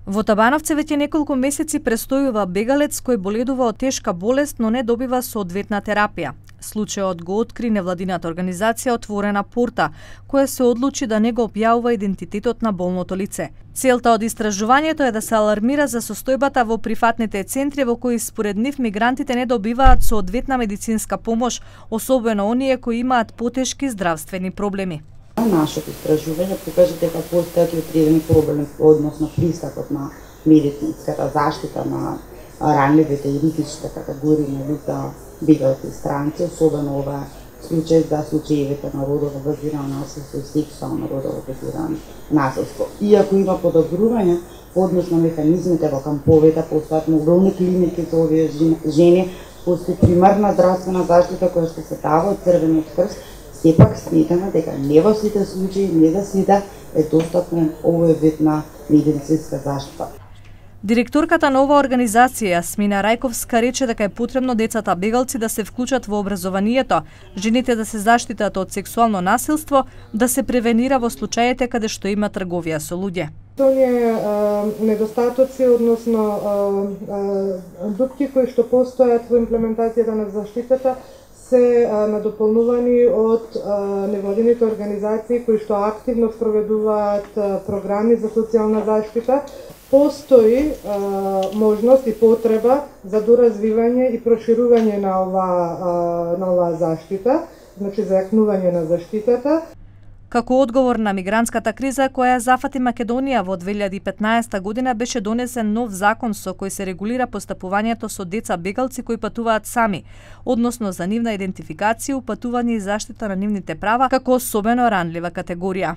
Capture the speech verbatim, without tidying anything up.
Во Табановце веќе неколку месеци престојува бегалец кој боледува од тешка болест, но не добива соодветна терапија. Случајот го откри невладината организација Отворена порта, која се одлучи да не го објавува идентитетот на болното лице. Целта од истражувањето е да се алармира за состојбата во прифатните центри во кои според нив мигрантите не добиваат соодветна медицинска помош, особено оние кои имаат потешки здравствени проблеми. Нашето истражување покажа дека постојат и отредени проблеми односно пристапот на медицинската заштита на ранливите и ризичните категории на лица, бегалци и странци, особено ова случај за случаевите на родово базирано насилство и сексуално родово базирано насилство. Иако има подобрување односно механизмите во камповите, постојат мобилни клиники за овие жени, постои примарна здравствена заштита која што се дава од Црвениот крст. Сепак сметаме дека не во сите случаи, не за сите е достапен овој вид на медицинска заштита. Директорката на оваа организација, Смина Рајковска, рече дека е потребно децата бегалци да се вклучат во образованието, жените да се заштитат од сексуално насилство, да се превенира во случаите каде што има трговија со луѓе. Оние недостатоци, односно дупки кои што постојат во имплементацијата на заштитата, се надополнувани од невладините организации кои што активно спроведуваат програми за социјална заштита. Постои можност и потреба за доразвивање и проширување на оваа на оваа заштита, значи зајакнување на заштитата. Како одговор на мигрантската криза која зафати Македонија во две илјади и петнаесета година беше донесен нов закон со кој се регулира постапувањето со деца бегалци кои патуваат сами, односно за нивна идентификација, упатување и заштита на нивните права како особено ранлива категорија.